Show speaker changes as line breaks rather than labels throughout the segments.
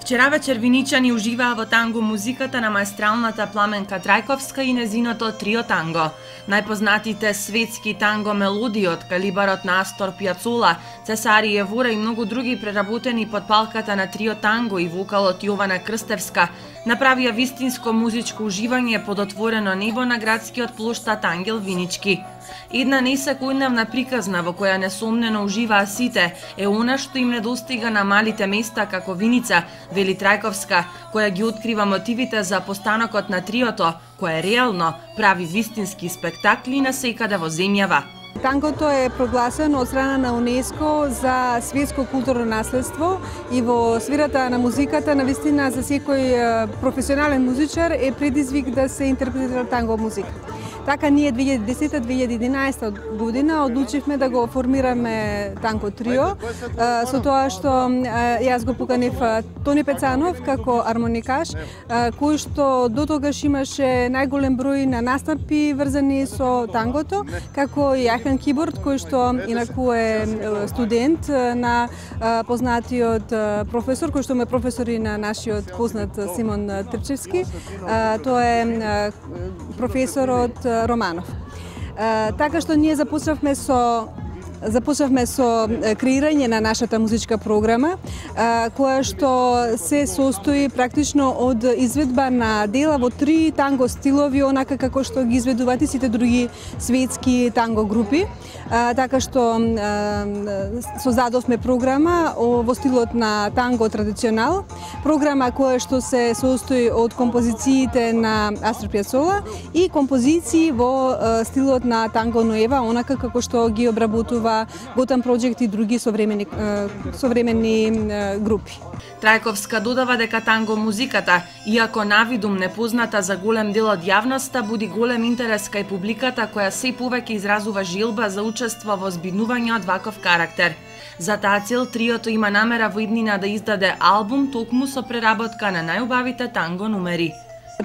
Вчера вечер виничани уживаа во танго музиката на маестралната Пламенка Трајковска и незиното трио танго. Најпознатите светски танго мелодии од калибарот на Астор Пијацола, Цесари Евура и многу други преработени под палката на трио танго и вокалот Јована Крстевска направија вистинско музичко уживање под отворено небо на градскиот плоштад Ангел Винички. Една несекојдневна приказна во која несомнено уживаа сите е она што им недостига на малите места како Виница, вели Трајковска, која ги открива мотивите за постанокот на триото, кое реално прави вистински спектакли насекаде во земјава.
Тангото е прогласено од страна на УНЕСКО за светско културно наследство и во сферата на музиката навистина за секој професионален музичар е предизвик да се интерпретира танго музика. Така ние 2010-2011 година одлучивме да го формираме танго трио, со тоа што јас го поканив Тони Пецанов како армоникаш, кој што до тогаш имаше најголем број на настапи врзани со тангото, како и Ахен Киборд, кој што инаку е студент на познатиот професор, кој што ме професори на нашиот познат Симон Трчевски. Тоа е професорот Романов. Така што ние започнавме со креирање на нашата музичка програма, која што се состои практично од изведба на дела во три танго стилови, онака како што ги изведуваат и сите други светски танго групи. Така што создадовме програма во стилот на танго традиционал, програма која што се состои од композициите на Астор Пијацола и композиции во стилот на танго ноева, онака како што ги обработува Готан Проджект и други современи групи.
Трајковска додава дека танго музиката, иако навидум непозната за голем дел од јавноста, буди голем интерес кај публиката која се повеќе изразува желба за учество во збиднување од ваков карактер. За таа цел триото има намера во иднина да издаде албум токму со преработка на најубавите танго numeri.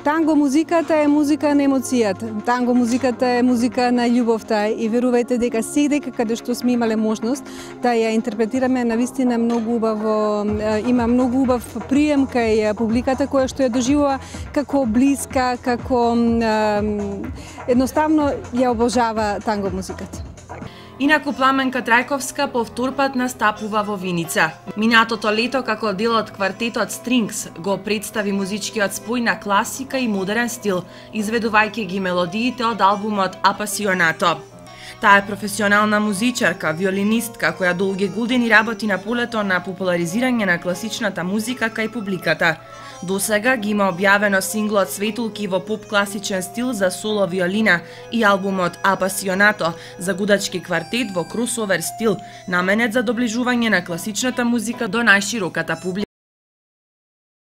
Танго музиката е музика на емоцијата. Танго музиката е музика на љубовта и верувајте дека секаде каде што сме имале можност да ја интерпретираме навистина многу убаво, има многу убав прием кај публиката која што ја доживува како блиска, како едноставно ја обожава танго музиката.
Инаку Пламенка Трајковска повторпат настапува во Виница. Минатото лето како дел од квартетот Strings го представи музичкиот спој на класика и модерен стил, изведувајќи ги мелодиите од албумот Апасионато. Таа е професионална музичарка, виолинистка, која долги години работи на полето на популаризирање на класичната музика кај публиката. До сега ги има објавено синглот Светулки во поп-класичен стил за соло виолина и албумот Апасионато за гудачки квартет во кросовер стил, наменет за доближување на класичната музика до најшироката публика.